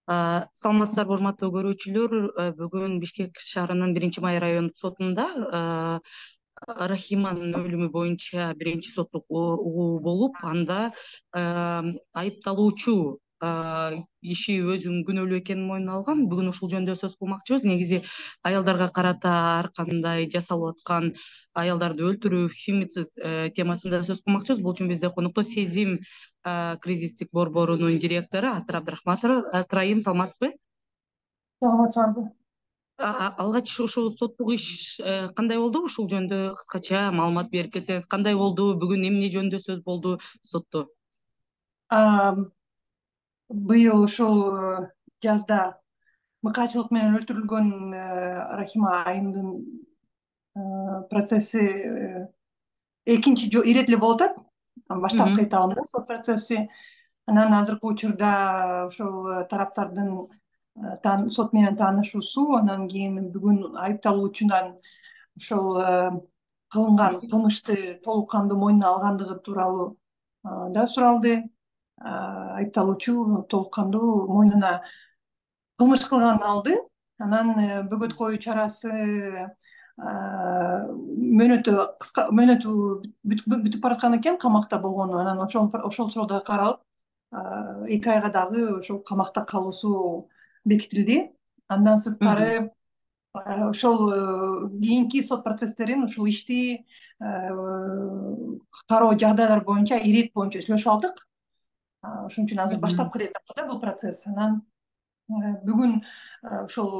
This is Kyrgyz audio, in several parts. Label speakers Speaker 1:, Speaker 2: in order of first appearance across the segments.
Speaker 1: Саламатсыздарбы, урматтуу көрүүчүлөр. Бүгүн Бишкек шаарынын 1-Май райондук сотунда Рахиманын өлүмү боюнча биринчи соттук угуу болуп, анда айыпталуучу киши өзүнүн күнөөлүү экенин мойнуна алган. Бүгүн ушул жөнүндө сөз кылмакчыбыз. Негизи аялдарга карата ар кандай жасалып аткан аялдарды өлтүрүү, фемицид темасында сөз кылмакчыбыз. Бул үчүн бизде конокто Сезим кризистик борборунун директору Атыр Абдрахматов. Атырайым, саламатсызбы?
Speaker 2: Саламатсызбы.
Speaker 1: Алгач ушул соттук иш кандай болду? Ушул жөнүндө кыскача маалымат берип кетсеңиз, кандай болду? Бүгүн эмне жөнүндө сөз болду сотто?
Speaker 2: Быйыл ушул жазда мыкаачылык менен өлтүрүлгөн Рахима айымдын процесси экинчи ирет эле болуп атат. Баштапкы этабында сот процесси. Анан азыркы учурда ошол тараптардын сот менен таанышуусу, анан кийин бүгүн айыпталуучунан ошол кылынган кылмышты толук кандуу мойнуна алгандыгы тууралуу да суралды. Айыпталуучу толук кандуу мойнуна кылмыш кылганын алды. Анан бөгөт коюу чарасы мөөнөтү бүтүп бараткан экен, камакта болгону. Анан ошол суроодо каралып, 2 айга дагы ошол камакта калуусу бекитилди. Андан сырткары ошол кийинки сот процесстерин, ушул ишти кароо жагдайлар боюнча ирет боюнча сүйлөшүп алдык. Ошон үчүн азыр баштапкы ирет да бул процесс. Анан бүгүн ошол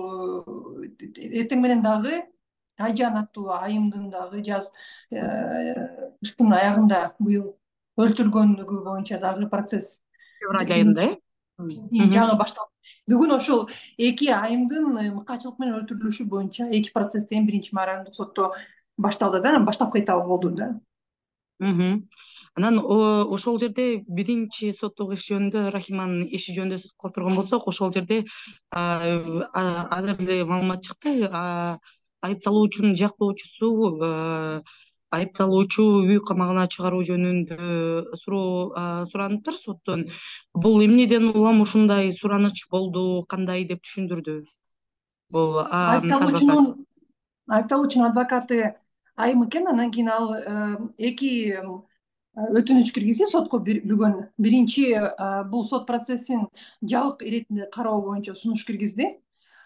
Speaker 2: эртең менен дагы Айжан аттуу айымдын дагы кыштын аягында быйыл өлтүрүлгөндүгү боюнча дагы процесс
Speaker 1: Февраль айында,
Speaker 2: жаңы башталды. Бүгүн ошол 2 айымдын мыкаачылык менен өлтүрүлүшү боюнча 2 процесс тең 1-Май райондук сотто башталды да, анан баштапкы этабы болду да.
Speaker 1: Анан ошол жерде биринчи соттук иш жөнүндө, Рахиманын иши жөнүндө сөз кыла турган болсок, ошол жерде азыр эле маалымат чыкты. Айыпталуучунун жактоочусу айыпталуучу үй камагына чыгаруу жөнүндө сураныптыр соттон. Бул эмнеден улам ушундай сураныч болду, кандай деп түшүндүрдү бул
Speaker 2: айыпталуучунун адвокаты айым экен. Анан кийин ал 2 өтүнүч киргизди сотко. Бүгүн биринчи бул сот процессин жабык иретинде кароо боюнча сунуш киргизди.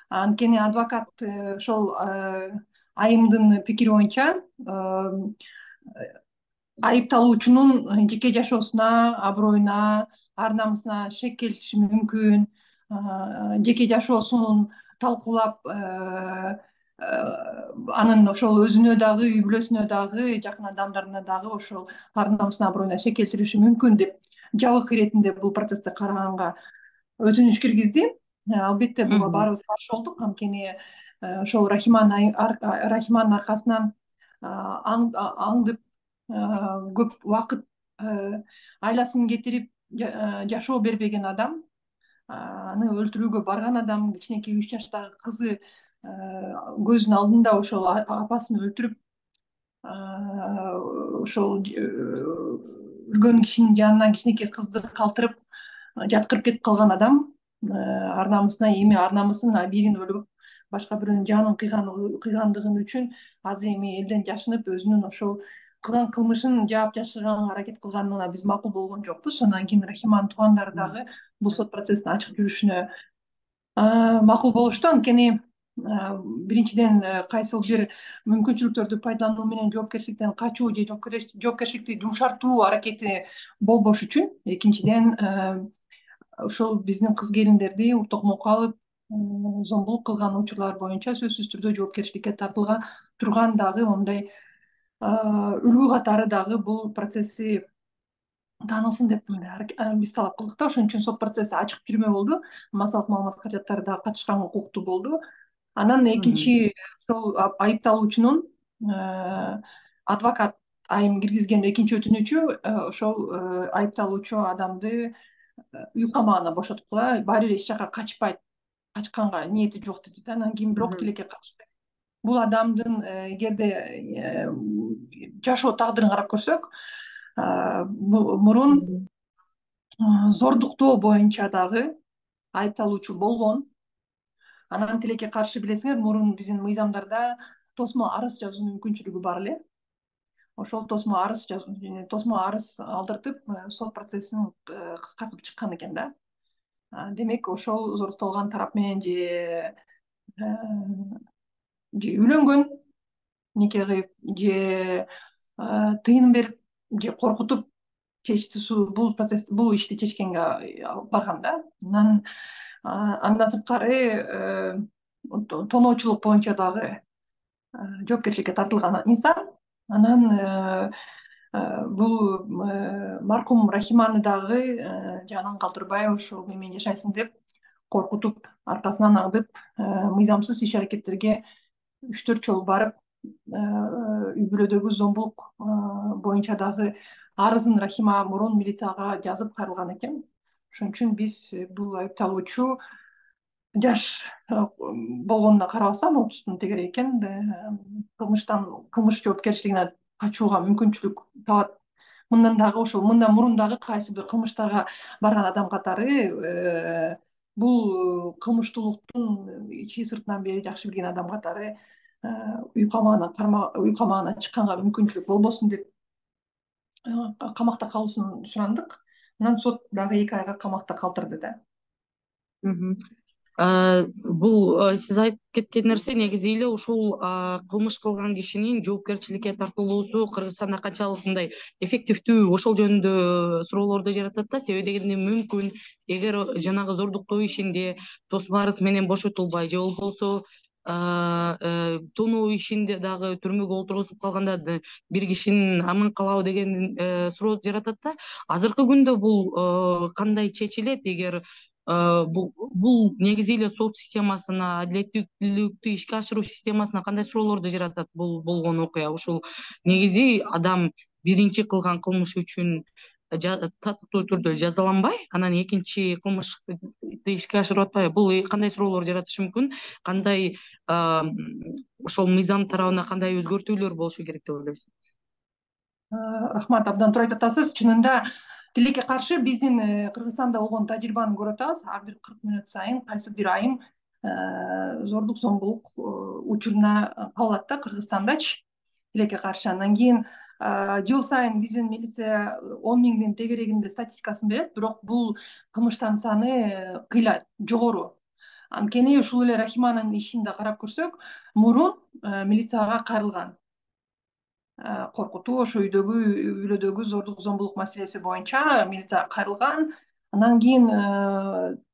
Speaker 2: Анткени адвокат ошол айымдын пикири боюнча айыпталуучунун жеке жашоосуна, аброюна, ар намысына шек келтириши мүмкүн, жеке жашоосун талкуулап, анын ошол өзүнө дагы, үй бүлөсүнө дагы, жакын адамдарына дагы ошол ар намысына, аброюна шек келтириши мүмкүн деп жабык иретинде бул процессти караганга өтүнүч киргизди. Албетте буга баарыбыз каршы болдук, анткени ошол Рахиманын аркасынан аңдып көп убакыт айласын кетирип жашоо бербеген адам, аны өлтүрүүгө барган адам, кичинекей 3 жаштагы кызы көзүнүн алдында ошол апасын өлтүрүп, ошол өлгөн кишинин жанынан кичинекей кызды калтырып жаткырып кетип калган адам, ар намысына эми ар намысын бирин өлүп, башка бирөөнүн жанын кыйгандыгы үчүн азыр эми элден жашынып, өзүнүн ошол кылган кылмышын жаап жашырганга аракет кылганына биз макул болгон жокпуз. Андан кийин Рахиманын туугандары дагы бул сот процессин ачык жүрүшүнө макул болушту. Анткени биринчиден кайсыл бир мүмкүнчүлүктөрдү пайдалануу менен жоопкерчиликтен качуу же жоопкерчиликти жумшартуу аракети болбош үчүн. Экинчиден ошол биздин кыз келиндерди токмокко алып зомбулук кылган учурлар боюнча сөзсүз түрдө жоопкерчиликке тартыла турган дагы мындай үлгү катары дагы бул процесси таанылсын деп биз талап кылдык да. Ошон үчүн сот процесси ачык жүрмө болду. Массалык маалымат каражаттары дагы катышканга укуктуу болду. Анан экинчи ошол айыпталуучунун адвокат айым киргизген экинчи өтүнүчү ошол айыпталуучу адамды үй камагына бошоткула, баары бир эч жака качпайт, качканга ниети жок деди да. Анан кийин бирок тилекке катышты. Бул адамдын эгерде жашоо тагдырын карап көрсөк, мурун зордуктоо боюнча дагы айыпталуучу болгон. Анан тилекке каршы билесиңер, мурун биздин мыйзамдарда тосмо арыз жазуу мүмкүнчүлүгү бар эле. Ошол тосмо арыз алдыртып, сот процессин кыскартып чыккан экен да. Демек ошол зордукталган тарап менен же үйлөнгөн, нике кыйып, же тыйын берип, же коркутуп бул ишти чечкенге алып барган да. Андан сырткары тоноочулук боюнча дагы жоопкерчиликке тартылган инсан. Анан бул маркум Рахиманы дагы жанын калтырбай ошол менен жашайсың деп коркутуп, аркасынан аңдып, мыйзамсыз иш аракеттерге 3-4 жолу барып, үй бүлөдөгү зомбулук боюнча дагы арызын Рахима мурун милицияга жазып кайрылган экен. Ошон үчүн биз бул айыпталуучу жаш болгонуна карабастан, 30-тун тегере экен, кылмыш жоопкерчилигине качууга мүмкүнчүлүк табат. Мындан мурун дагы кайсы бир кылмыштарга барган адам катары, бул кылмыштуулуктун ичи сыртынан бери жакшы билген адам катары үй камагына чыкканга мүмкүнчүлүк болбосун деп камакта калуусун сурандык. Анан сот дагы 2 айга камакта калтырды да.
Speaker 1: Бул сиз айтып кеткен нерсе негизи эле ушул кылмыш кылган кишинин жоопкерчиликке тартылуусу Кыргызстанда канчалык мындай эффективдүү, ошол жөнүндө суроолорду жаратат да. Себеби дегенде мүмкүн эгер жанагы зордуктоо ишинде тосмо арыз менен бошотулбай же болбосо тоноо ишинде дагы түрмөгө отургузуп калганда бир кишинин аман калабы деген суроо жаратат да. Азыркы күндө бул кандай чечилет? Эгер бул негизи эле сот системасына, адилеттүүлүктү ишке ашыруу системасына кандай суроолорду жаратат бул болгон окуя? Ушул негизи адам биринчи кылган кылмышы үчүн татыктуу түрдө жазаланбай, анан экинчи кылмышты ишке ашырып атпайбы? Бул кандай суроолор жаратышы мүмкүн? Кандай ошол мыйзам тарабына кандай өзгөртүүлөр болушу керек деп ойлойсуз?
Speaker 2: Рахмат, абдан туура айтып атасыз. Чынында тилекке каршы биздин Кыргызстанда болгон тажрыйбаны көрүп атабыз. Ар бир 40 мүнөт сайын кайсы бир айым зордук зомбулук учуруна кабылат да Кыргызстандачы, тилекке каршы. Андан кийин жыл сайын биздин милиция 10 миңдин тегерегинде статистикасын берет, бирок бул кылмыштардын саны кыйла жогору. Анткени ушул эле Рахиманын ишин да карап көрсөк, мурун милицияга кайрылган. Коркутуу, ошо үй бүлөдөгү зордук зомбулук маселеси боюнча милицияга кайрылган. Андан кийин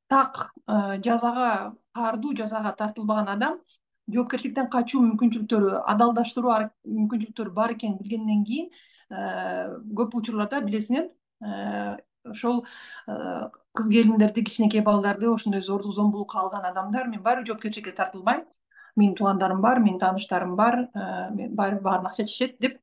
Speaker 2: так каардуу жазага тартылбаган адам жоопкерчиликтен качуу мүмкүнчүлүктөрү, адалдаштыруу мүмкүнчүлүктөрү бар экенин билгенден кийин көп учурларда билесиңер, ошол кыз келиндерди, кичинекей балдарды ошондой зордук зомбулукка алган адамдар мен баары жоопкерчиликке тартылбайм, менин туугандарым бар, менин тааныштарым бар, баарын акча чечет деп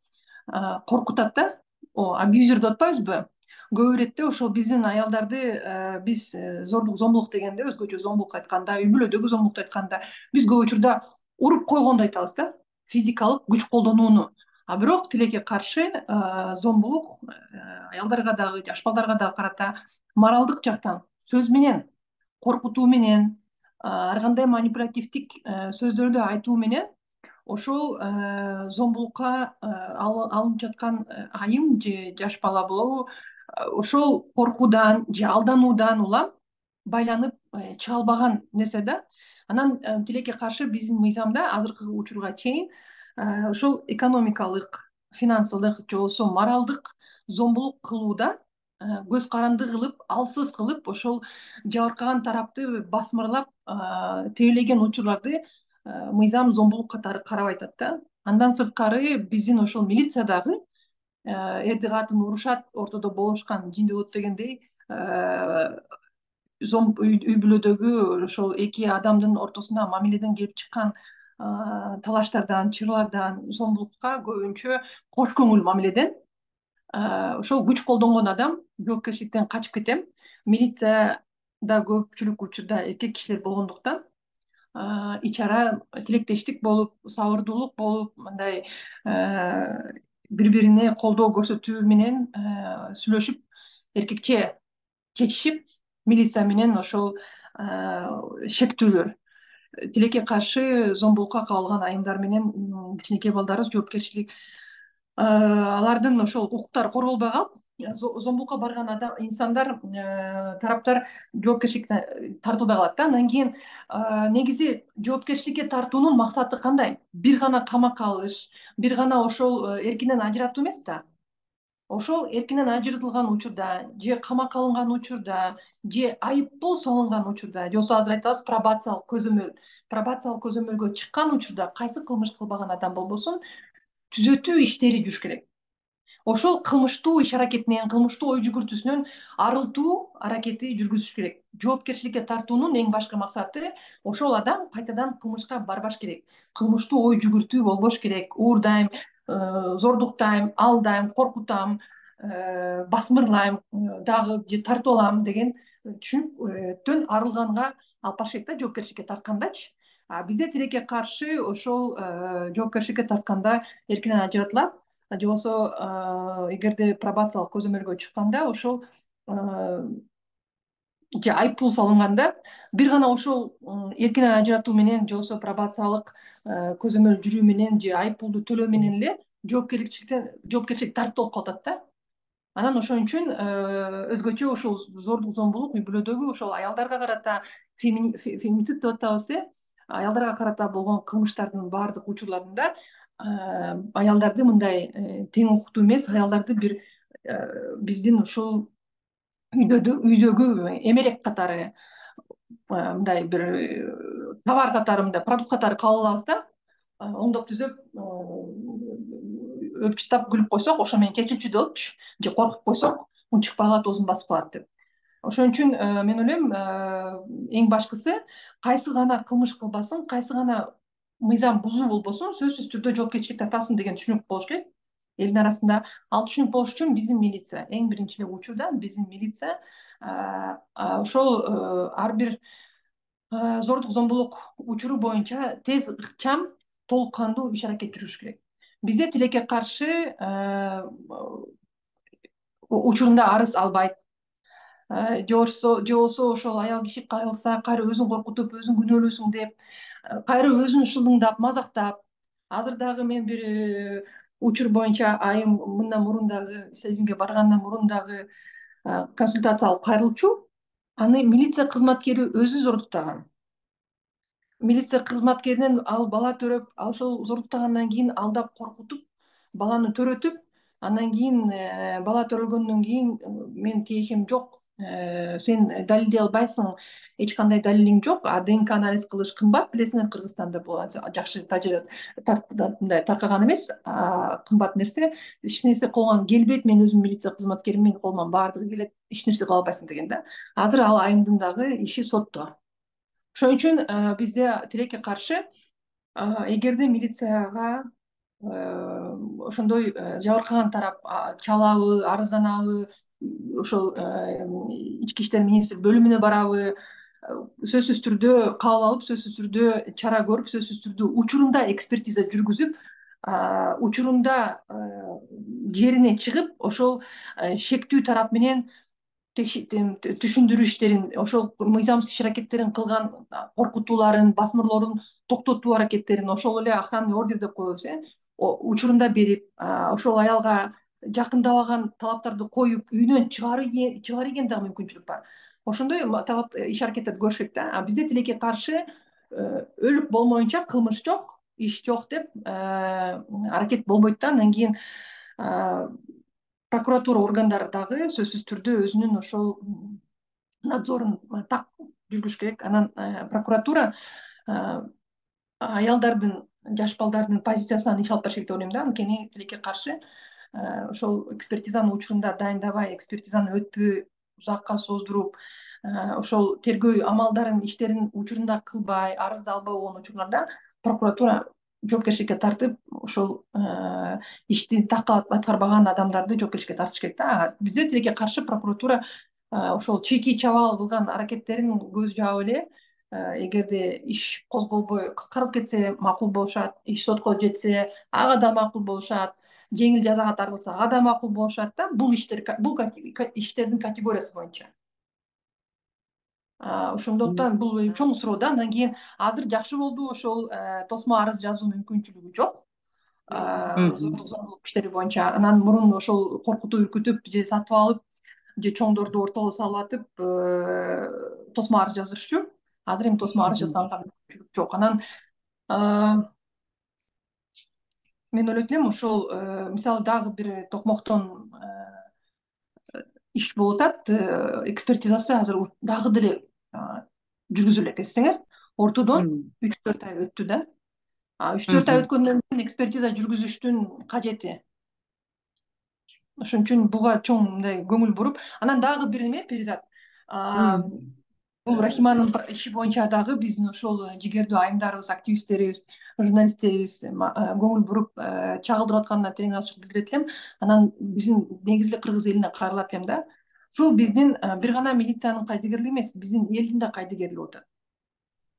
Speaker 2: коркутат да. Абьюзер деп атпайбызбы? Көп иретте ошол биздин аялдарды биз зордук зомбулук дегенде, өзгөчө зомбулук айтканда, үй бүлөдөгү зомбулукту айтканда биз көп учурда уруп койгонду айтабыз да, физикалык күч колдонууну. Бирок тилекке каршы зомбулук аялдарга дагы, жаш балдарга дагы карата моралдык жактан сөз менен, коркутуу менен, ар кандай манипулятивдик сөздөрдү айтуу менен ошол зомбулукка алынып жаткан айым же жаш бала болобу, ошол коркуудан же алдануудан улам байланып чыга албаган нерсе да. Анан тилекке каршы биздин мыйзамда азыркы учурга чейин ошол экономикалык, финансылык же болбосо моралдык зомбулук кылууда көз каранды кылып, алсыз кылып, ошол жабыркаган тарапты басмырлап тебелеген учурларды мыйзам зомбулук катары карап айтат да. Андан сырткары биздин ошол милиция дагы эрди катын урушат, ортодо болушкан жин болот дегендей, үй бүлөдөгү ошол эки адамдын ортосуна мамиледен келип чыккан талаштардан, чырлардан, зомбулукка көбүнчө кош көңүл мамиледен ошол күч колдонгон адам жоопкерчиликтен качып кетем. Милицияда көпчүлүк учурда эркек кишилер болгондуктан ич ара тилектештик болуп, сабырдуулук болуп, мындай бири бирине колдоо көрсөтүү менен сүйлөшүп, эркекче чечишип, милиция менен ошол шектүүлөр. Тилекке каршы зомбулукка кабылган айымдар менен кичинекей балдары жоопкерчилик алардын ошол укуктары корголбой калып, зомбулукка барган инсандар, тараптар жоопкерчиликке тартылбай калат да. Андан кийин негизи жоопкерчиликке тартуунун максаты кандай? Бир гана камакка алыш, бир гана ошол эркинен ажыратуу эмес да. Ошол эркинен ажыратылган учурда же камакка алынган учурда же айыппул салынган учурда же болбосо азыр айтабыз пробациялык көзөмөлгө чыккан учурда кайсы кылмыш кылбаган адам болбосун түзөтүү иштери жүрүш керек. Ошол кылмыштуу иш аракетинен, кылмыштуу ой жүгүртүүсүнөн арылтуу аракети жүргүзүш керек. Жоопкерчиликке тартуунун эң башкы максаты ошол адам кайтадан кылмышка барбаш керек. Кылмыштуу ой жүгүртүү болбош керек. Уурдайм, зордуктайм, алдайм, коркутам, басмырлайм, дагы же тартып алам деген түшүнүктөн арылганга алып барыш керек да, жоопкерчиликке тарткандачы. Бизде тилекке каршы ошол жоопкерчиликке тартканда эркинен ажыратылат. Же болбосо эгерде пробациялык көзөмөлгө чыкканда ошол же айыппул салынганда бир гана ошол эркинен ажыратуу менен же болбосо пробациялык көзөмөл жүрүү менен же айыппулду төлөө менен эле жоопкерчилик тартылып калып атат да. Анан ошон үчүн өзгөчө ушул зордук зомбулук үй бүлөдөгү ошол аялдарга карата фемицид деп атабыз, аялдарга карата болгон кылмыштардын баардык учурларында аялдарды мындай тең укуктуу эмес, аялдарды бир биздин ушул үйдөгү эмерек катары, мындай бир товар катары, мындай продукт катары кабыл алабыз да. Оңдоп түзөп өпчүтап күлүп койсок, ошо менен чечилчү болупчу, же коркуп койсок, унчукпай калат, оозун басып калат деп. Ошон үчүн мен ойлойм, эң башкысы кайсы гана кылмыш кылбасын, кайсы гана мыйзам бузуу болбосун, сөзсүз түрдө жоопкерчилик тартасың деген түшүнүк болуш керек элдин арасында. Ал түшүнүк болуш үчүн биздин милиция, эң биринчи эле учурда биздин милиция ошол ар бир зордук зомбулук учуру боюнча тез, ыкчам, толук кандуу иш аракет жүрүш керек. Бизде тилекке каршы учурунда арыз албайт, же болбосо ошол аял киши кайрылса кайра өзүн коркутуп, өзүң күнөөлүүсүң деп, кайра өзүн шылыңдап, мазактап. Азыр дагы мен бир учур боюнча айым мындан мурун дагы, сезимге баргандан мурун дагы консультация алып кайрылчу. Аны милиция кызматкери өзү зордуктаган. Милиция кызматкеринен ал бала төрөп, ошол зордуктагандан кийин алдап, коркутуп, баланы төрөтүп, андан кийин бала төрөлгөндөн кийин менин тиешем жок, сен далилдей албайсың, эч кандай далилиң жок, ДНК анализ кылыш кымбат, билесиңер, Кыргызстанда бул жакшы мындай таркаган эмес, кымбат нерсе. Эч нерсе колгоң келбейт, мен өзүм милиция кызматкеримин, колуман баардыгы келет, эч нерсе кыла албайсың деген да. Азыр ал айымдын дагы иши сотто. Ошон үчүн бизде тилекке каршы, эгерде милицияга ошондой жабыркаган тарап чалабы, арызданабы, ошол ички иштер министрлик бөлүмүнө барабы, сөзсүз түрдө кабыл алып, сөзсүз түрдө чара көрүп, сөзсүз түрдө учурунда экспертиза жүргүзүп, учурунда жерине чыгып, ошол шектүү тарап менен түшүндүрүү иштерин, ошол мыйзамсыз иш аракеттерин кылган коркутууларын, басмырлоорун токтотуу аракеттерин, ошол эле охранный ордер деп коебуз, учурунда берип, ошол аялга жакындабаган талаптарды коюп, үйүнөн чыгаруу деген дагы мүмкүнчүлүк бар. Ошондой талап иш аракеттерди көрүш керек да. Бизде тилекке каршы өлүк болмоюнча кылмыш жок, иш жок деп аракет болбойт да. Андан кийин прокуратура органдары дагы сөзсүз түрдө өзүнүн ошол надзорун так жүргүзүш керек. Анан прокуратура аялдардын, жаш балдардын позициясынан иш алып барыш керек деп ойлойм да. Анткени тилекке каршы ошол экспертизаны учурунда дайындабай, экспертизаны өтпөй, узакка создуруп, ошол тергөө амалдарын, иштерин учурунда кылбай, арызды албай болгон учурларда прокуратура жоопкерчиликке тартып, ошол ишти так аткарбаган адамдарды жоопкерчиликке тартыш керек да. Бизде тилекке каршы прокуратура ошол чийки чабаал кылган аракеттерин көз жаап эле, эгерде иш козголбой кыскарып кетсе макул болушат, иш сотко жетсе ага да макул болушат, жеңил жазага тартылса ага да макул болушат да. Бул иштердин категориясы боюнча. Ошондуктан бул чоң суроо да. Андан кийин азыр жакшы болду, ошол тосмо арыз жазуу мүмкүнчүлүгү жок зордук зомбулук иштери боюнча. Анан мурун ошол коркутуп үркүтүп же сатып алып же чоңдорду ортого салып атып тосмо арыз жаздырчу. Азыр эми тосмо арыз жазганга мүмкүнчүлүк жок. Анан мен ойлойт элем ошол мисалы дагы бир токмоктон иш болуп атат, экспертизасы азыр дагы деле жүргүзүлөт, эстеңер. Ортодон 3-4 ай өттү да. 3-4 ай өткөндөн кийин экспертиза жүргүзүштүн кажети. Ошон үчүн буга чоң мындай көңүл буруп, анан дагы бир эме Перизат. Бул Рахиманын иши боюнча дагы биздин ошол жигердүү айымдарыбыз, активисттерибиз, журналисттерибиз көңүл буруп чагылдырып атканына терең ачык билдирет элем. Анан биздин негизги кыргыз элине кайрылат элем да. Ушул биздин бир гана милициянын кайдыгерлиги эмес, биздин элдин да кайдыгерлиги болуп атат.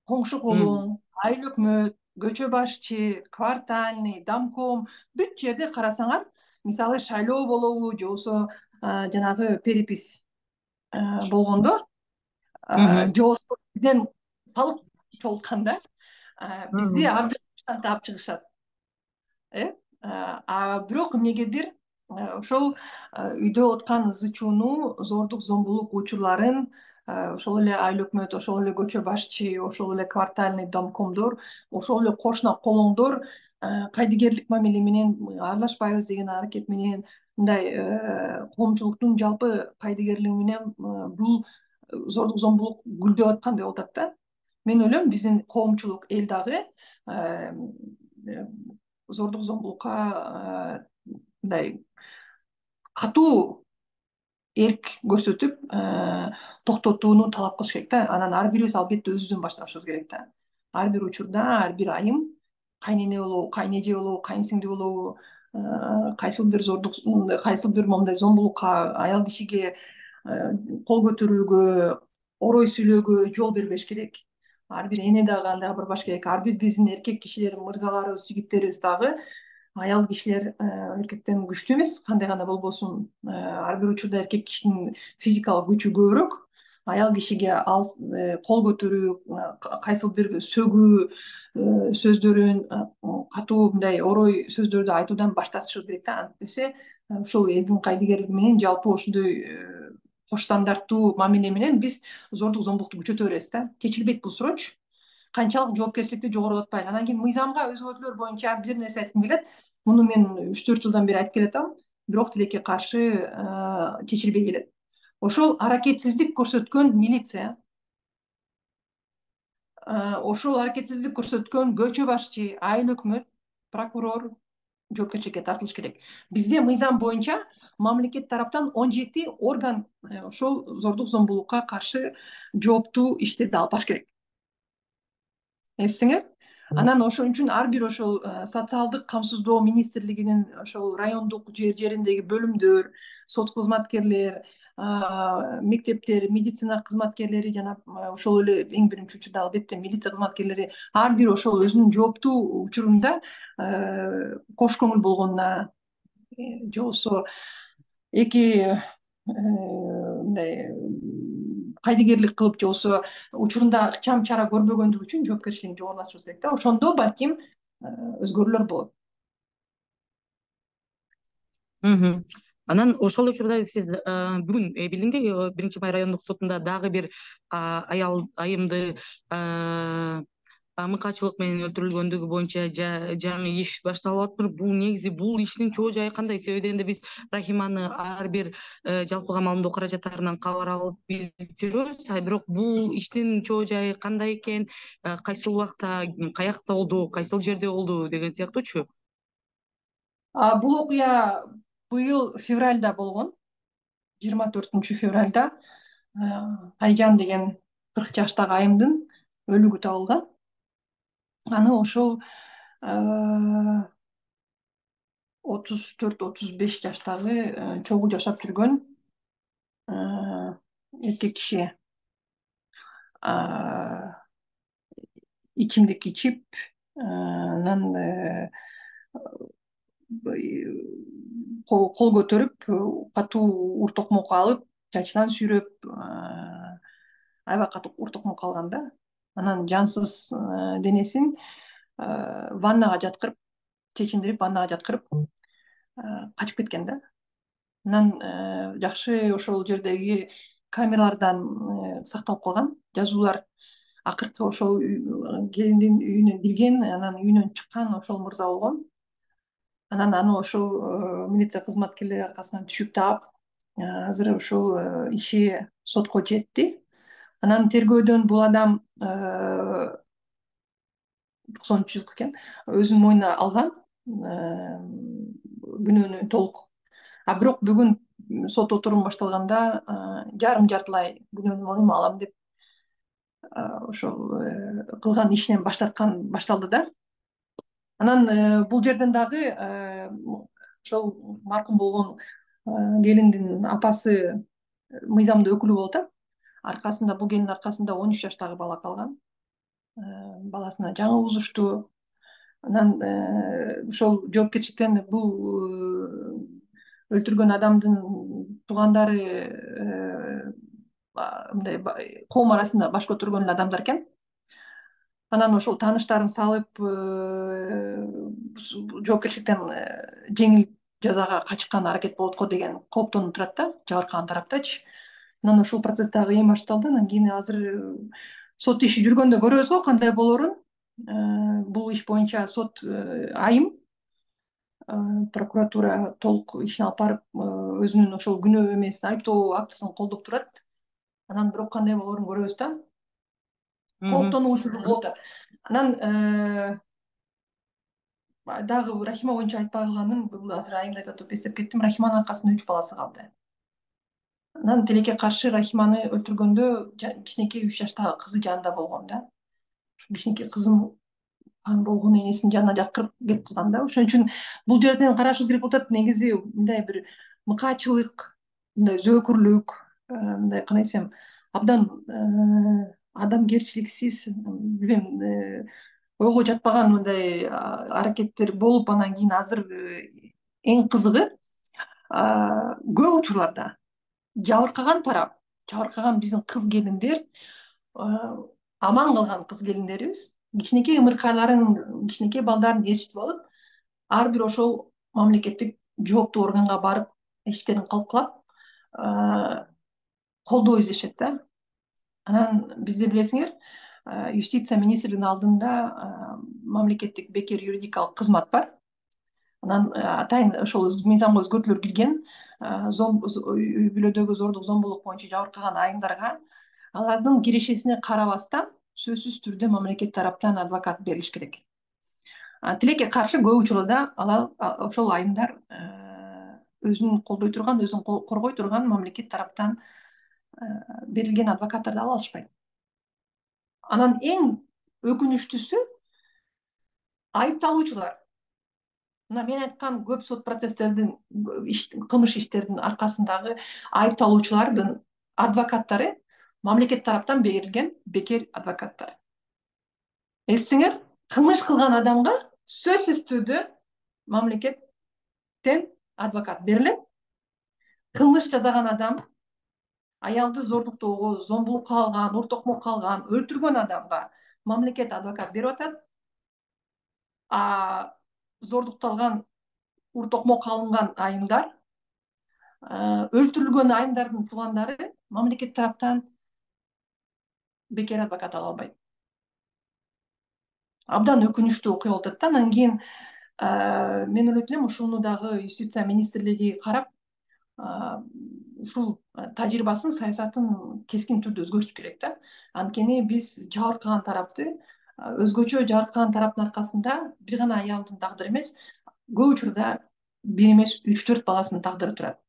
Speaker 2: Коңшу колуң, айыл өкмөт, көчө башчы, квартальный, домком бүт жерде карасаңар, мисалы шайлоо болобу же болбосо жанагы перепись болгондо же болбосо бизден салык чогултканда бизди ар бир таап чыгышат. Бирок эмнегедир ошол үйдө откан ызы чууну, зордук зомбулук учурларын ошол эле айыл өкмөт, ошол эле көчө башчы, ошол эле квартальный домкомдор, ошол эле кошуна колоңдор кайдыгерлик мамиле менен аралашпайбыз деген аракет менен, мындай коомчулуктун жалпы кайдыгерлиги менен бул зордук зомбулук гүлдөп аткандай болуп атат да. Мен ойлойм биздин коомчулук эл дагы зордук зомбулукка мындай катуу эрк көрсөтүп токтотууну талап кылыш керек да. Анан ар бирибиз албетте өзүбүздөн башташыбыз керек да. Ар бир учурда ар бир айым кайнене болобу, кайнеже болобу, кайынсиңди болобу, кайсыл бир момундай зомбулукка, аял кишиге кол көтөрүүгө, орой сүйлөөгө жол бербеш керек. Ар бир эне дагы андай кылбаш керек. Ар бир биздин эркек кишилер, мырзаларыбыз, жигиттерибиз дагы аял кишилер эркектен күчтүү эмес, кандай гана болбосун. Ар бир учурда эркек кишинин физикалык күчү көбүрөөк. Аял кишиге ал кол көтөрүү, кайсыл бир сөгүү сөздөрүн, катуу мындай орой сөздөрдү айтуудан баш тартышыбыз керек да. Антесе ушул элдин кайдыгерлиги менен жалпы ошондой кош стандарттуу мамиле менен биз зордук зомбулукту күчөтө беребиз да. Чечилбейт бул суроочу. Канчалык жоопкерчиликти жогорулатпайлы. Анан кийин мыйзамга өзгөртүүлөр боюнча бир нерсе айткым келет. Муну мен 3-4 жылдан бери айтып келатам, бирок тилекке каршы чечилбей келет. Ошол аракетсиздик көрсөткөн милиция, ошол аракетсиздик көрсөткөн көчө башчы, айыл өкмөт, прокурор жоопкерчиликке тартылыш керек. Бизде мыйзам боюнча мамлекет тараптан 17 орган ошол зордук зомбулукка каршы жооптуу иштерди алып барыш керек. Эстеңер? Анан ошон үчүн ар бир ошол социалдык камсыздоо министрлигинин ошол райондук жериндеги бөлүмдөр, сот кызматкерлер, мектептер, медицина кызматкерлери жана ошол эле эң биринчи учурда албетте милиция кызматкерлери ар бир ошол өзүнүн жооптуу учурунда кош көңүл болгонуна же болбосо эки мындай кайдыгерлик кылып же болбосо учурунда ыкчам чара көрбөгөндүгү үчүн жоопкерчилигин жогорулатышыбыз керек да. Ошондо балким өзгөрүүлөр болот.
Speaker 1: Анан ошол учурда сиз бүгүн билдимби, 1-Май райондук сотунда дагы бир аял айымды мыкаачылык менен өлтүрүлгөндүгү боюнча жаңы иш башталып атыптыр. Бул негизи бул иштин чоо жайы кандай? Себеби дегенде биз Рахиманы ар бир жалпы камалдоо каражаттарынан кабар алып билип жүрөбүз, бирок бул иштин чоо жайы кандай экен, кайсыл убакта, каякта болду, кайсыл жерде болду деген сыяктуучу.
Speaker 2: Бул окуя быйыл февралда болгон, 24 февралда Айжан деген 40 жаштагы айымдын өлүгү табылган. Аны ошол 34-35 жаштагы чогуу жашап жүргөн эркек киши ичимдик ичип, анан кол көтөрүп, катуу ур токмок алып, чачынан сүйрөп, аябай катуу уртукмун калган да. Анан жансыз денесин ваннага жаткырып, чечиндирип ваннага жаткырып качып кеткен да. Анан жакшы ошол жердеги камералардан сакталып калган жазуулар. Акыркы ошол келиндин үйүнө кирген, анан үйүнөн чыккан ошол мырза болгон. Анан аны ошол милиция кызматкерлери аркасынан түшүп таап, азыр ошол иши сотко жетти. Анан тергөөдөн бул адам 93 жылкы экен, өзүнүн мойнуна алган күнөөнү толук. А бирок бүгүн сот отуруму башталганда жартылай күнөөнү мойнума алам деп ошол кылган ишинен баш тарткан башталды да. Анан бул жерден дагы ошол маркум болгон келиндин апасы мыйзамдуу өкүлү болуп атат. Аркасында бул келиндин аркасында 13 жаштагы бала калган. Баласына жаңы угузушту. Анан ошол жоопкерчиликтен бул өлтүргөн адамдын туугандары мындай коом арасында баш көтөргөн адамдар экен. Анан ошол тааныштарын салып жоопкерчиликтен жеңил жазага качкан аракет болот го деген кооптонуп турат да, жабыркаган тараптачы. Анан ошол процесс дагы эми башталды. Анан кийин азыр сот иши жүргөндө көрөбүз го кандай болоорун. Бул иш боюнча сот айым прокуратура толук ишин алып барып өзүнүн ошол күнөө эмесин, айыптоо актысын колдоп турат. Анан бирок кандай болоорун көрөбүз да. Кооптонуучулук болуп атат. Анан дагы Рахима боюнча айтпай калганым, бул азыр айымды айтып атып эстеп кеттим. Рахиманын аркасында 3 баласы калды. Анан тилекке каршы Рахиманы өлтүргөндө кичинекей 3 жаштагы кызы жанында болгон да. Ушул кичинекей кызым болгон энесинин жанына жаткырып кетип калган да. Ошон үчүн бул жерден карашыбыз керек болуп атат. Негизи мындай бир мыкаачылык, мындай зөөкүрлүк, мындай кандай десем, абдан адамгерчиликсиз, билбейм, ойго жатпаган мындай аракеттер болуп, анан кийин азыр эң кызыгы көп учурларда жабыркаган тарап, жабыркаган биздин кыз келиндер, аман калган кыз келиндерибиз кичинекей ымыркайларын, кичинекей балдарын ээрчитип алып, ар бир ошол мамлекеттик жооптуу органга барып, эшиктерин калкалап, колдоо издешет да. Анан бизде билесиңер, юстиция министринин алдында мамлекеттик бекер юридикалык кызмат бар. Анан атайын ошол мыйзамга өзгөртүүлөр кирген, үй бүлөдөгү зордук, зомбулук боюнча жабыркаган айымдарга алардын кирешесине карабастан сөзсүз түрдө мамлекет тараптан адвокат берилиш керек. Тилекке каршы көп учурда ошол айымдар өзүн колдой турган, өзүн коргой турган мамлекет тараптан берилген адвокаттарды ала алышпайт. Анан эң өкүнүчтүүсү айыпталуучулар. Мына мен айткан көп сот процесстердин, кылмыш иштердин аркасындагы айыпталуучулардын адвокаттары мамлекет тараптан берилген бекер адвокаттар. Эстеңер, кылмыш кылган адамга сөзсүз түрдө мамлекеттен адвокат берилет. Кылмыш жасаган адам аялды зордуктоого, зомбулукка алган, уртокмокко алган, өлтүргөн адамга мамлекет адвокат берип атат. Зордукталган, уртокмокко алынган айымдар, өлтүрүлгөн айымдардын туугандары мамлекет тараптан бекер адвокат ала албайт. Абдан өкүнүчтүү окуя болуп атат да. Анан кийин мен ойлойт элем, ушуну дагы юстиция министрлиги карап, ушул тажрыйбасын, саясатын кескин түрдө өзгөртүш керек да. Анткени биз жабыркаган тарапты, өзгөчө жабыркаган тараптын аркасында бир гана аялдын тагдыры эмес, көп учурда бир эмес 3-4 баласынын тагдыры турат.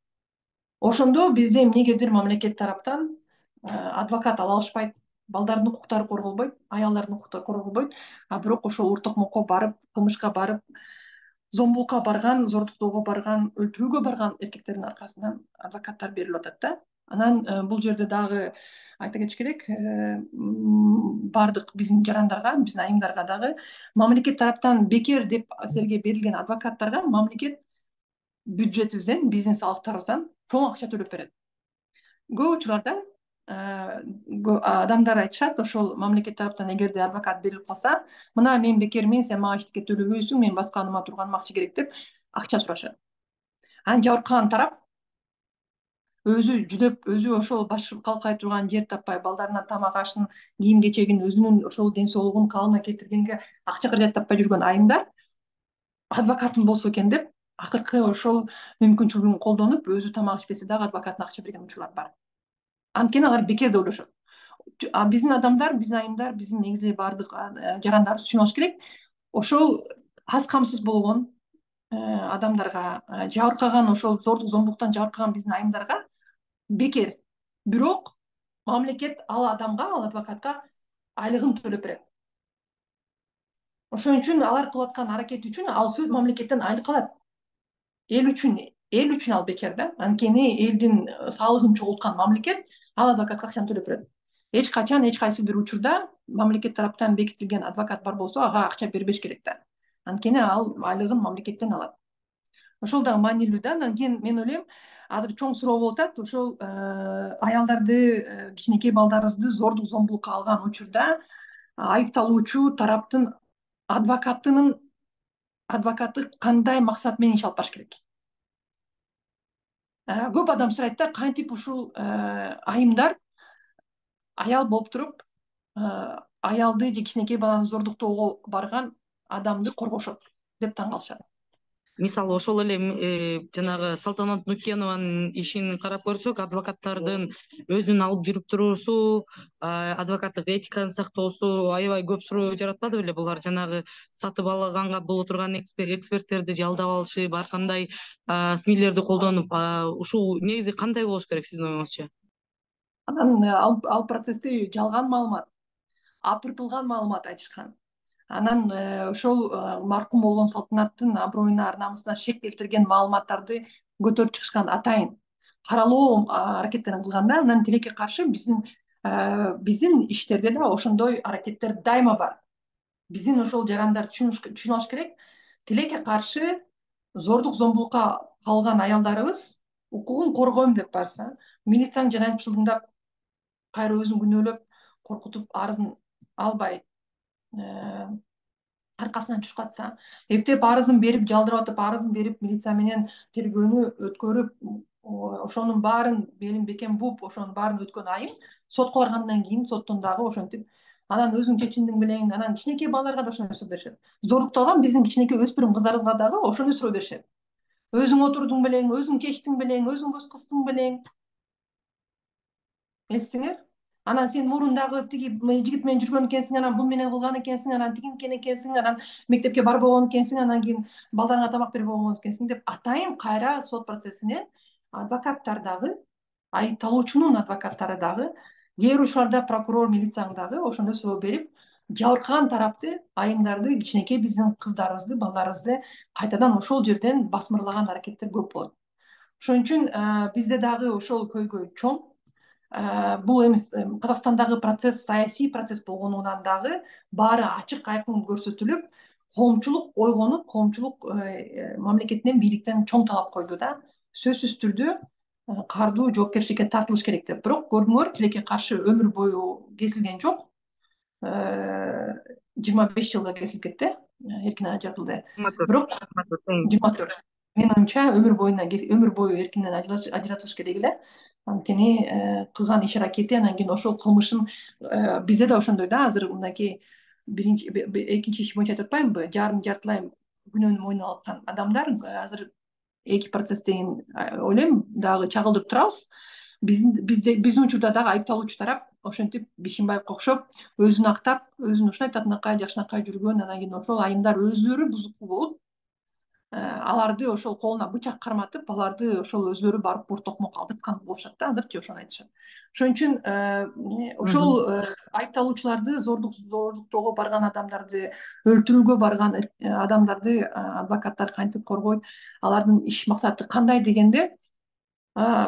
Speaker 2: Ошондо бизде эмнегедир мамлекет тараптан адвокат ала алышпайт, балдардын укуктары корголбойт, аялдардын укуктары корголбойт, а бирок ошол уртокмокко барып, кылмышка барып, зомбулукка барган, зордуктоого барган, өлтүрүүгө барган эркектердин аркасынан адвокаттар берилип атат да. Анан бул жерде дагы айта кетиш керек, баардык биздин жарандарга, биздин айымдарга дагы мамлекет тараптан бекер деп силерге берилген адвокаттарга мамлекет бюджетибизден, биздин салыктарыбыздан чоң акча төлөп берет. Көп учурларда адамдар айтышат, ошол мамлекет тараптан эгерде адвокат берилип калса, мына мен бекермин, сен мага эчтеке төлөбөйсүң, мен басканыма турганым акча керек деп акча сурашат. Анан жабыркаган тарап өзү жүдөп, өзү ошол баш калкай турган жер таппай, балдарына тамак ашын, кийим кечегин, өзүнүн ошол ден соолугун калыбына келтиргенге акча каражат таппай жүргөн айымдар адвокатым болсо экен деп акыркы ошол мүмкүнчүлүгүн колдонуп, өзү тамак ичпесе дагы адвокатына акча берген учурлар бар. Анткени алар бекер деп ойлошот. Биздин адамдар, биздин айымдар, биздин негизи эле баардык жарандарыбыз түшүнүп алыш керек. Ошол аз камсыз болгон адамдарга, жабыркаган, ошол зордук зомбулуктан жабыркаган биздин айымдарга бекер. Бирок мамлекет ал адамга, ал адвокатка айлыгын төлөп берет. Ошон үчүн алар кылып аткан аракети үчүн ал сөз мамлекеттен айлык алат. Эл үчүн ал бекер да. Анткени элдин салыгын чогулткан мамлекет ал адвокатка акчаны төлөп берет. Эч качан эч кайсы бир учурда мамлекет тараптан бекитилген адвокат бар болсо, ага акча бербеш керек да. Анткени ал айлыгын мамлекеттен алат. Ошол дагы маанилүү да. Андан кийин мен ойлойм, азыр чоң суроо болуп атат, ошол аялдарды, кичинекей балдарыбызды зордук зомбулукка алган учурда айыпталуучу тараптын адвокаты кандай максат менен иш алып барыш керек? Көп адам сурайт да, кантип ушул айымдар аял болуп туруп аялды же кичинекей баланы зордуктоого барган адамды коргошот деп таң калышат.
Speaker 1: Мисалы ошол эле жанагы Салтанат Нукенованын ишин карап көрсөк, адвокаттардын өзүн алып жүрүп туруусу, адвокаттык этиканы сактоосу аябай көп суроо жаратпады беле? Булар жанагы сатып алганга боло турган эксперттерди жалдап алышып, ар кандай СМИлерди колдонуп, ушул негизи кандай болуш керек сиздин оюңузча?
Speaker 2: Анан ал процессти жалган маалымат, апыртылган маалымат айтышкан. Анан ошол маркум болгон Салтанаттын аброюна, ар намысына шек келтирген маалыматтарды көтөрүп чыгышкан атайын каралоо аракеттерин кылган да. Анан тилекке каршы биздин иштерде да ошондой аракеттер дайыма бар. Биздин ошол жарандар түшүнүп алыш керек. Тилекке каршы зордук зомбулукка калган аялдарыбыз укугун коргойм деп барса, милициянын жанайып жылдыңдап, кайра өзүн күнөөлөп, коркутуп, арызын албай аркасынан түшүп катса, эптеп арызын берип, жалдырап атып арызын берип, милиция менен тергөөнү өткөрүп, ошонун баарын белин бекем бууп, ошонун баарын өткөн айым сотко баргандан кийин соттон дагы ошентип, анан өзүң чечимиң менен, анан кичинекей балдарга да ошондой суроо беришет. Зордукталган биздин кичинекей өспүрүм кыздарыбызга дагы ошондой суроо беришет. Өзүң отурдуң белең, өзүң чечтиң белең, өзүң көз кыстың белең. Эстиңер? Анан сен мурундагы тиги жигит менен жүргөн экенсиң, анан бул менен кылган экенсиң, анан тигинкен экенсиң, анан мектепке барбаган экенсиң, анан кийин балдарыңа тамак бербеген экенсиң деп атайын кайра сот процессине адвокаттар дагы, айыпталуучунун адвокаттары дагы, кээ бир учурларда прокурор, милицияң дагы ошондой суроо берип, жабыркаган тарапты, айымдарды, кичинекей биздин кыздарыбызды, балдарыбызды кайтадан ошол жерден басмырлаган аракеттер көп болот. Ошон үчүн бизде дагы ошол көйгөй чоң. Бул эми Казакстандагы процесс саясий процесс болгондугунан дагы баары ачык айкын көрсөтүлүп, коомчулук ойгонуп, коомчулук мамлекеттен, бийликтен чоң талап койду да. Сөзсүз түрдө кардуу жоопкерчиликке тартылыш керек деп. Бирок көрдүңөр, тилекке каршы өмүр бою кесилген жок. 25 жылга кесилип кетти, эркинен ажыратылды. Бирок 24. Менин оюмча өмүр бою эркинен ажыратылыш керек эле. Анткени кылган иш аракети, анан кийин ошол кылмышын бизде да ошондой да, азыр мынакей экинчи иш боюнча айтып атпаймынбы, жартылай күнөөнү мойнуна алып аткан адамдар азыр 2 процесс деген ойлойм дагы чагылдырып турабыз. Биздин учурда дагы айыпталуучу тарап ошентип Бишимбаевге окшоп өзүн актап, өзүн ушундай татынакай, жакшынакай жүргөн, анан кийин ошол айымдар өзүлөрү бузуку болуп, аларды ошол колуна бычак карматып, аларды ошол өзүлөрү барып бур токмок алдырткан болушат да, азырчы ошону айтышат. Ошон үчүн ошол айыпталуучуларды, зордуктоого барган адамдарды, өлтүрүүгө барган адамдарды адвокаттар кантип коргойт, алардын иш максаты кандай дегенде,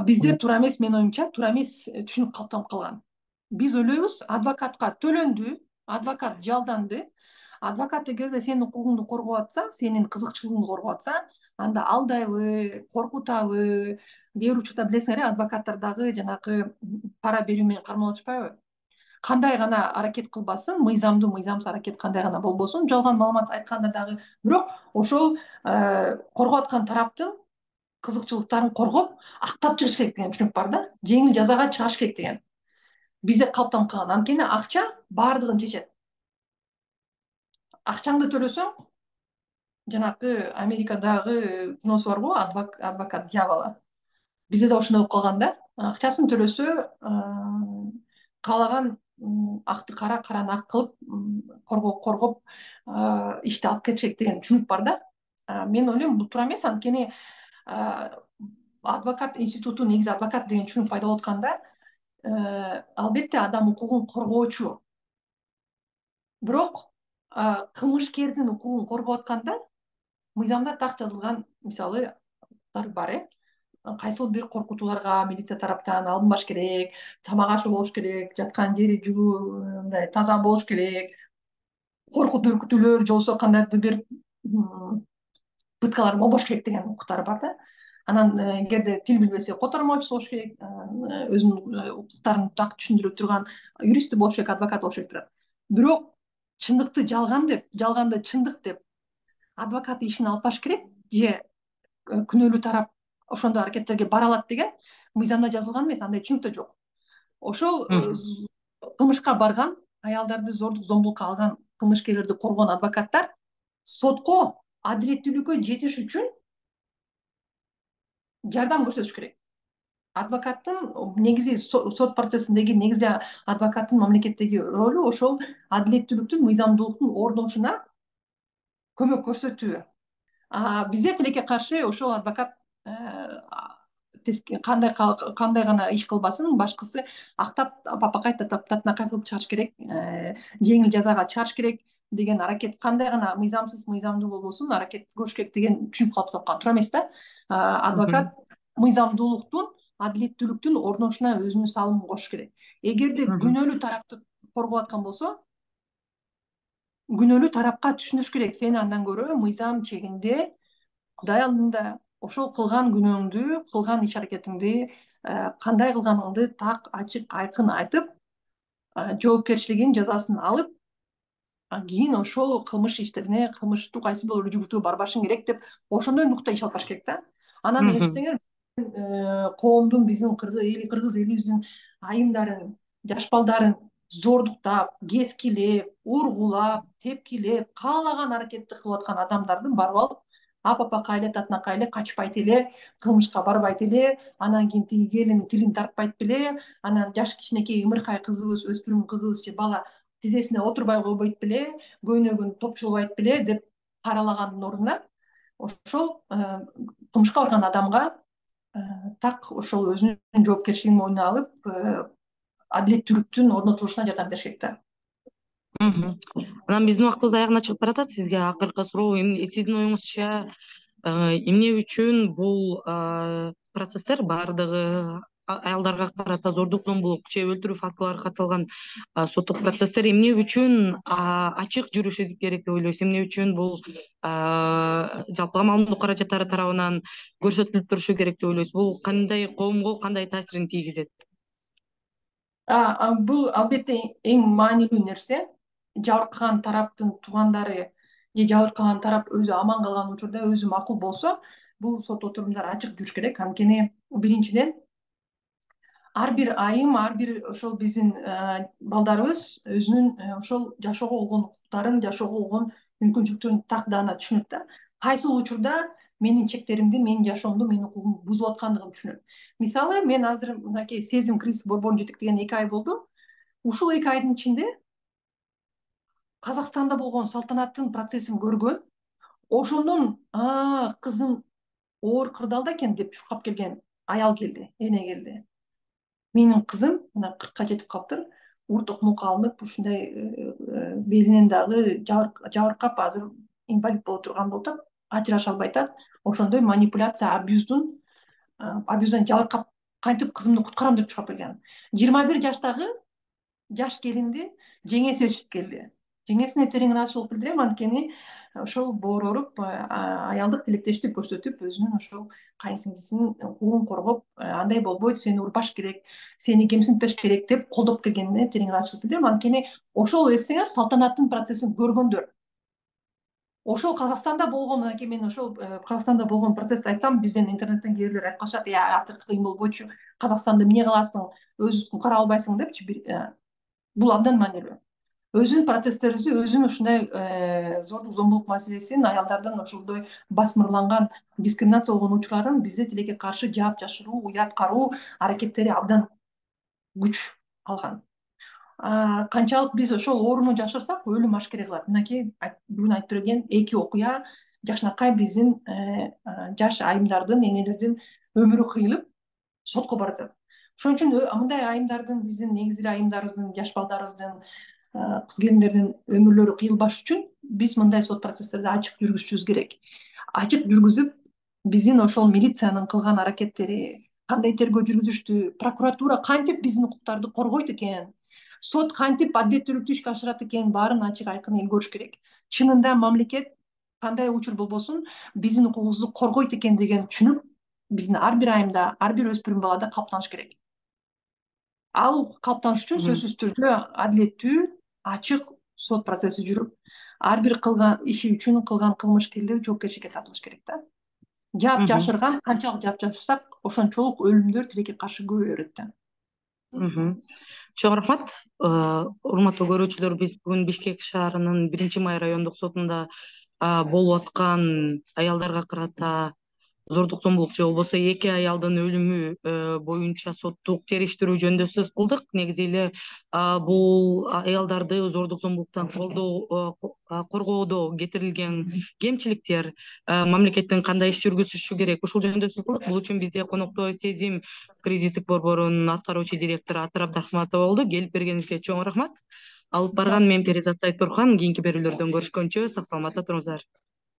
Speaker 2: бизде туура эмес, менин оюмча, туура эмес түшүнүк калыптанып калган. Биз ойлойбуз, адвокатка төлөндү, адвокат жалданды. Адвокат эгерде сенин укугуңду коргоп атса, сенин кызыкчылыгыңды коргоп атса, анда алдайбы, коркутабы, кээ бир учурда билесиңер адвокаттар дагы жанагы пара берүү менен кармалып атышпайбы? Кандай гана аракет кылбасын, мыйзамдуу мыйзамсыз аракет кандай гана болбосун, жалган маалымат айтканда дагы, бирок ошол коргоп аткан тараптын кызыкчылыктарын коргоп актап чыгыш керек деген түшүнүк бар да. Жеңил жазага чыгыш керек деген бизде калыптанып калган. Анткени акча баардыгын чечет. Акчаңды төлөсөң, жанагы Америкадагы киносу барго, адвокат дьявола. Бизде да ошондой болуп калган да. Акчасын төлөсө, каалаган акты кара, караны ак кылып коргоп ишти алып кетишет деген түшүнүк бар да. Мен ойлойм бул туура эмес, анткени адвокат институту, негизи адвокат деген түшүнүк пайда болуп атканда албетте адам укугун коргоочу. Бирок кылмышкердин укугун коргоп атканда мыйзамда так жазылган, мисалы, бар. Кайсыл бир коркутууларга милиция тараптан алынбаш керек, тамак ашы болуш керек, жаткан жери жылуу, мындай таза болуш керек, коркутуу үркүтүүлөр же болбосо кандайдыр бир пыткалар болбош керек деген укуктары бар да. Анан эгерде тил билбесе котормочусу болуш керек, өзүнүн укуктарын так түшүндүрө турган юристи болуш керек, адвокат болуш керек. Бирок чындыкты жалган деп, жалганды чындык деп адвокат ишин алып баш керек же күнөөлүү тарап ошондой аракеттерге бара алат деген мыйзамда жазылган эмес, андай түшүнүк да жок. Ошол кылмышка барган, аялдарды зордук зомбулукка алган кылмышкерлерди коргогон адвокаттар сотко адилеттүүлүккө жетиш үчүн жардам көрсөтүш керек. Адвокаттын негизи сот процессиндеги негизи адвокаттын мамлекеттеги ролу ошол адилеттүүлүктүн, мыйзамдуулуктун орношуна көмөк көрсөтүү. Бизде тилекке каршы ошол адвокат кандай гана иш кылбасын, башкысы актап апакайта таптакай кылып чыгарыш керек, жеңил жазага чыгарыш керек деген аракет, кандай гана мыйзамсыз мыйзамдуу болбосун аракет көрүш керек деген түшүнүк калыптанып калган. Туура эмес да. Адвокат мыйзамдуулуктун, адилеттүүлүктүн орношуна өзүнүн салымын кошуш керек. Эгерде күнөөлүү тарапты коргоп аткан болсо, күнөөлүү тарапка түшүнүш керек. Сени андан көрө мыйзам чегинде, Кудай алдында ошол кылган күнөөңдү, кылган иш аракетиңди, кандай кылганыңды так, ачык, айкын айтып, жоопкерчилигин, жазасын алып, кийин ошол кылмыш иштерине, кылмыштуу кайсы бир жүргүзүүгө барбашың керек деп ошондой нукта иш алып баш керек да. Анан эстеңер, коомдун, биздин кыргыз элибиздин айымдарын, жаш балдарын зордуктап, кескилеп, ургулап, тепкилеп, каалаган аракетти кылып аткан адамдарды барып алып, апапакай эле, татынакай эле качпайт эле, кылмышка барбайт эле, анан кийин тиги келин тилин тартпайт беле, анан жаш кичинекей ымыркай кызыбыз, өспүрүм кызыбыз же бала тизесине отурбай койбойт беле, көйнөгүн топчулбайт беле деп каралагандын ордуна ошол кылмышка барган адамга так ошол өзүнүн жоопкерчилигин мойнуна алып, адилеттүүлүктүн орнотулушуна жардам бериш керек да.
Speaker 1: Анан биздин убактыбыз аягына чыгып баратат. Сизге акыркы суроо, сиздин оюңузча эмне үчүн бул процесстер баардыгы аялдарга карата зордук, зомбулук же өлтүрүү фактылары катталган соттук процесстер эмне үчүн ачык жүрүшү керек деп ойлойсуз? Эмне үчүн бул жалпы маалыматтоо каражаттары тарабынан көрсөтүлүп турушу керек деп ойлойсуз? Бул кандай коомго кандай таасирин тийгизет?
Speaker 2: Бул албетте эң маанилүү нерсе. Жабыркаган тараптын туугандары же жабыркаган тарап өзү аман калган учурда, өзү макул болсо, бул сот отурумдары ачык жүрүш керек. Анткени биринчиден ар бир айым, ар бир ошол биздин балдарыбыз өзүнүн ошол жашоого болгон укуктарын, жашоого болгон мүмкүнчүлүктөрүн так даана түшүнөт да. Кайсыл учурда менин чектеримди, менин жашоомду, менин укугумду бузуп аткандыгын түшүнөт. Мисалы, мен азыр мынакей сезим кризиси борборун жетектеген 2 ай болду. Ушул 2 айдын ичинде Казакстанда болгон салтанаттын процессин көргөн, ошондон кызым оор кырдаалда экен деп чуркап келген аял келди, эне келди. Менин кызым мына 40-ка жетип калыптыр, ур токмокко алынып, ушундай белинен дагы жабыркап, азыр инвалид боло турган болуп атат, ажыраша албай атат. Ошондой манипуляция, абьюздан жабыркап, кантип кызымды куткарам деп чуркап келген. 21 жаштагы жаш келинди жеңе сезишип келди. жеңесине терең ыраазычылык билдирем, анткени ошол боороруп аялдык тилектештик көрсөтүп, өзүнүн ошол кайынсиңдисинин укугун коргоп, андай болбойт, сени урбаш керек, сени кемсинтпеш керек деп колдоп келгенине терең ыраазычылык билдирем. Анткени ошол эсеңер салтанаттын процессин көргөндөр. Ошол Казакстанда болгон, мынакей мен ошол Казакстанда болгон процессти айтсам, бизден интернеттен кээ бирлер айтып калышат, атыр кыйын болбойчу, Казакстанды эмне кыласың, өзүңдүн карап албайсың депчи. Бул абдан маанилүү. Өзүнүн процесстерибизди, өзүнүн ушундай зордук зомбулук маселесин, аялдардын ошондой басмырланган, дискриминацияланган учурларын бизде тилекке каршы жаап жашыруу, уяткаруу аракеттери абдан күч алган. Канчалык биз ошол ооруну жашырсак, өлүм ашкере кылат. Мынакей бүгүн айтып берген 2 окуя жакшынакай биздин жаш айымдардын, энелердин өмүрү кыйылып сотко баратат. Ошон үчүн мындай айымдардын, биздин негизи эле айымдарыбыздын, жаш балдарыбыздын, кыз келиндердин өмүрлөрү кыйылбаш үчүн биз мындай сот процесстерди ачык жүргүзүшүбүз керек. Ачык жүргүзүп, биздин ошол милициянын кылган аракеттери, кандай тергөө жүргүзүштү, прокуратура кантип биздин укуктарды коргойт экен, сот кантип адилеттүүлүктү ишке ашырат экен, баарын ачык айкын эл көрүш керек. Чынында мамлекет кандай учур болбосун биздин укугубузду коргойт экен деген түшүнүк биздин ар бир айымда, ар бир өспүрүм балада калыптаныш керек. Ал калыптаныш үчүн сөзсүз түрдө адилеттүү, ачык сот процесси жүрүп, ар бир кылган иши үчүн кылган кылмышкерлер жоопкерчиликке тартылыш керек да. Жаап жашырган, канчалык жаап жашырсак, ошончолук өлүмдөр тилекке каршы көбөйө берет да.
Speaker 1: Чоң рахмат. Урматтуу көрүүчүлөр, биз бүгүн Бишкек шаарынын 1-Май райондук сотунда болуп аткан аялдарга карата зордук зомбулук же болбосо 2 аялдын өлүмү боюнча соттук териштирүү жөнүндө сөз кылдык. Негизи эле бул аялдарды зордук зомбулуктан коргоодо кетирилген кемчиликтер, мамлекеттин кандай иш жүргүзүшү керек, ушул жөнүндө сөз кылдык. Бул үчүн бизде конокто Сезим кризистик борборунун аткаруучу директору Атыр Абдрахматова болду. Келип бергениңизге чоң рахмат. Алып барган мен Перизат Айтбурхан. Кийинки берүүлөрдөн көрүшкөнчө сак саламатта туруңуздар.